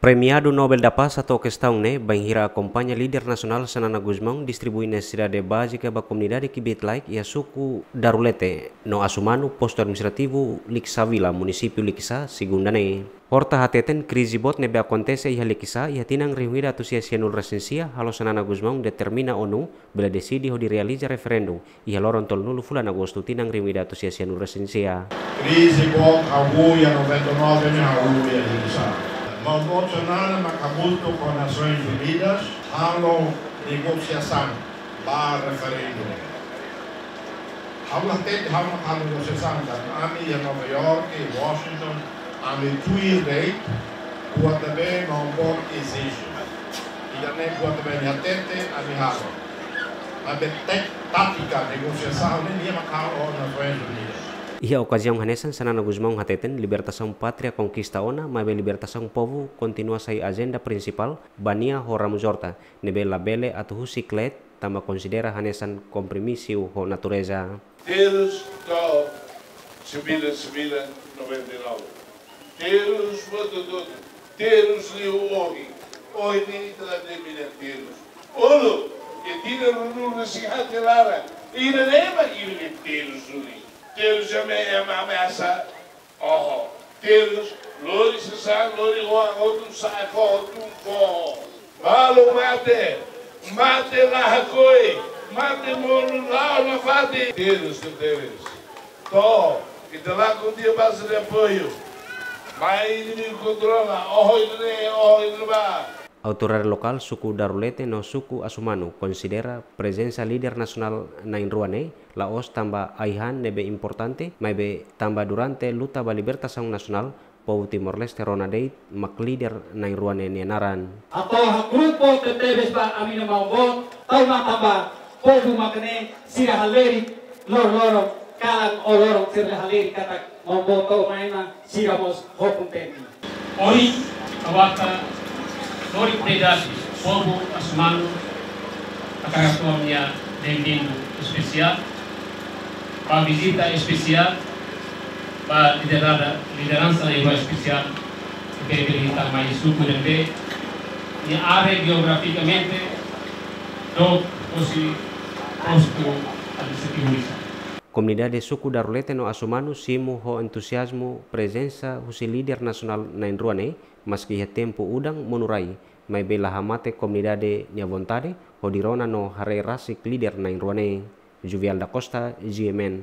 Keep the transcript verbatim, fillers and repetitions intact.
Premiadu Nobel da Paz hato'o kestaun ne'e bainhira akompaña líder nasionál Xanana Gusmão distribui nesesidade bázika ba komunidade kbiit-laek iha suku Darulete no Asumanu, postu administrativu Likisá Vila, munisípiu Likisá, segunda ne'e. Horta hateten krize boot ne'ebé akontese iha Likisá iha tinan rihun ida atus sia sianulu-resin-sia halo Xanana Gusmão determina ONU bele deside hodi realiza referendu iha loron tolunulu fulan Agostu tinan rihun ida atus sia sianulu-resin-sia. Krize boot hahú iha noventa e nove ne'e hahú iha Likisá. Maun boot Xanana mak hamutuk ho Nasoins Unidas halo negosiasaun ba referendu. Ha'u la hatete ha'u mak halo negosiasaun, ami iha Nova York, Washington, ami tuir de'it buat ne'ebé maun boot ezije. Ida-ne'e buat ne'ebé nia hatete, ami halo. Maibé tek-, tátika negosiasaun ne'e nia mak halo ho Nasoins Unidas. Iha okaziaun hanesan Xanana Gusmão hateten libertasaun pátria konkista ona, maibé libertasaun povu kontinua sai ajenda prinsipál ba nia ho Ramos Horta, ne'ebé labele atu husik leet tanba konsidera hanesan kompromisu ho natureza. Terus to'o sembilan sembilan noventa e nol. Terus buat hotu-hotu. Terus liu ohin. Ohin ne'e ita la determina terus. Uluk, iha tinan ruanulu-resin-haat nia laran, ida-ne'e mak imi-nia terus duni. Terus ema, ema ameasa. Oho. Terus, lori sasán, lori oan, hotu sa'e foho, tun foho. Balu mate, mate la hakoi, mate monu la'o nafatin. Terus, terus. To'o, ita lakon tiha base de apoiu. Mai inimigu kontrola, oho ida-ne'e, oho ida-ne'ebá. Autoridade lokál suku Darulete no suku Asumanu konsidera prezensa líder nasionál na'in-rua ne'e la'ós tanba ai-han ne'ebé importante, maibé tanba durante luta ba libertasaun nasionál, povu Timor-Leste rona de'it mak líder na'in-rua ne'e nia naran. Hato'o hakru'uk boot tebes ba ami-nia maun boot, tau matan ba povu mak ne'e sira halerik loroloron, kalan ho loron sira halerik katak maun boot to'o mai ona sira mós ho kontente. Ohin, ha'u atu lori oportunidade, povu Asumanu, hakarak fó nia benvindu espesiál, ba vizita espesiál, ba liderada, lideransa na'in-rua espesiál, ne'ebé bele hetan mai suku ne'ebé nia área jeografikamente dook husi postu administrativu Likisá. Komunidade suku Darulete no Asumanu simu ho entuziazmu prezensa husi líder nasionál na'in-rua ne'e, maski iha tempu udan monu rai, maibé la hamate komunidade nia vontade hodi rona no haree rasik líder na'in-rua ne'e. Juvial da Costa, G M N.